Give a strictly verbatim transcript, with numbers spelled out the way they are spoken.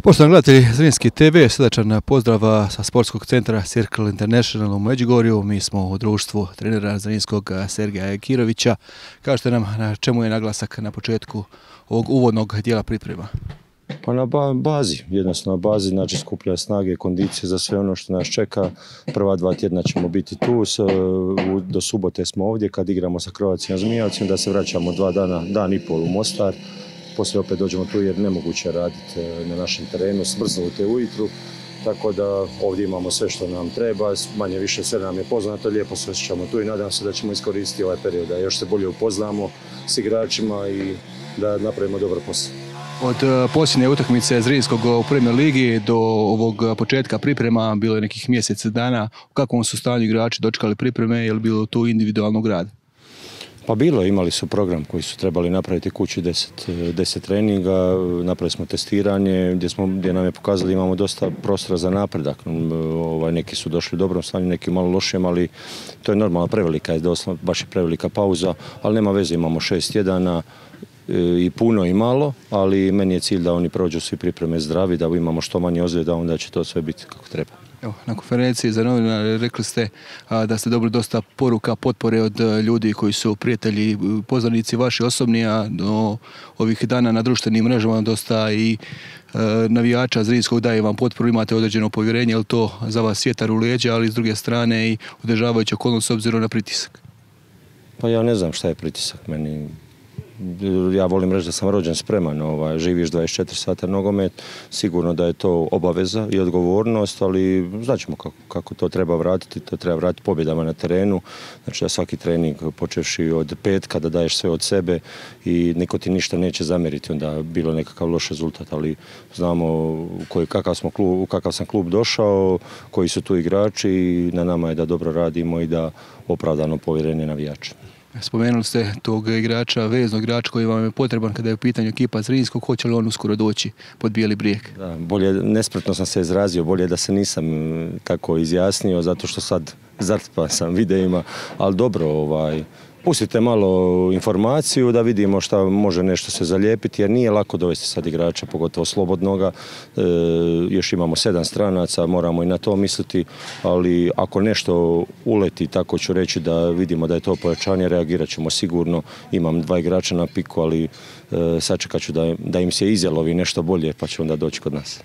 Poštovani gledatelji Zrinski te ve, srdačan pozdrav sa sportskog centra Circle International u Međugorju. Mi smo u društvu trenera Zrinskog Sergeja Ekirovića. Kažete nam na čemu je naglasak na početku ovog uvodnog dijela priprema? Pa na bazi, jednostavno na bazi, znači skuplja snage, kondicije za sve ono što nas čeka. Prva dva tjedna ćemo biti tu, do subote smo ovdje kad igramo sa Croatia Zmijavcem, da se vraćamo dva dana, dan i pol u Mostar. Poslije opet dođemo tu jer nemoguće raditi na našem terenu, smrznute ujutru. Tako da ovdje imamo sve što nam treba, manje više sve nam je poznato, lijepo se osjećamo tu i nadam se da ćemo iskoristiti ovaj period, da još se bolje upoznamo s igračima i da napravimo dobar posao. Od posljednje utakmice Zrinskog u Premier ligi do ovog početka priprema bilo je nekih mjesec dana. U kakvom su stanju igrači dočekali pripreme, je li bilo tu individualnog rada? Pa bilo, imali su program koji su trebali napraviti kući deset, deset treninga, napravili smo testiranje gdje, smo, gdje nam je pokazali imamo dosta prostora za napredak. Ovaj, neki su došli u dobrom stanju, neki malo lošijem, ali to je normalna prevelika, je doslovno, baš je prevelika pauza, ali nema veze, imamo šest tjedana i puno i malo, ali meni je cilj da oni prođu svi pripreme zdravi, da imamo što manje ozljeda, onda će to sve biti kako treba. Evo, na konferenciji za novinare rekli ste a, da ste dobili dosta poruka, potpore od a, ljudi koji su prijatelji, poznanici vaši osobni, a do ovih dana na društvenim mrežama dosta i a, navijača Zrinskog daje vam potporu, imate određeno povjerenje, je li to za vas vjetar u leđa, ali s druge strane i održavajući okolnost s obzirom na pritisak? Pa ja ne znam šta je pritisak meni. Ja volim reći da sam rođen spreman, ovaj, živiš dvadeset četiri sata nogomet, sigurno da je to obaveza i odgovornost, ali znaćemo kako, kako to treba vratiti, to treba vratiti pobjedama na terenu, znači da svaki trening počevši od petka da daješ sve od sebe i niko ti ništa neće zamjeriti, onda bilo nekakav loš rezultat, ali znamo koji, kakav, smo klub, u kakav sam klub došao, koji su tu igrači i na nama je da dobro radimo i da opravdano povjerenje navijača. Spomenuli ste tog igrača, veznog igrača koji vam je potreban kada je u pitanju ekipa Zrinskog, hoće li on uskoro doći pod bijeli brijeg? Da, bolje, nespretno sam se izrazio, bolje da se nisam tako izjasnio, zato što sad zatrpan sam videima, ali dobro, ovaj, pustite malo informaciju da vidimo šta može nešto se zalijepiti, jer nije lako dovesti sad igrača, pogotovo slobodnoga. E, još imamo sedam stranaca, moramo i na to misliti, ali ako nešto uleti, tako ću reći da vidimo da je to pojačanje, reagirat ćemo sigurno. Imam dva igrača na piku, ali e, sačekat ću da, da im se izjalovi nešto bolje, pa će onda doći kod nas.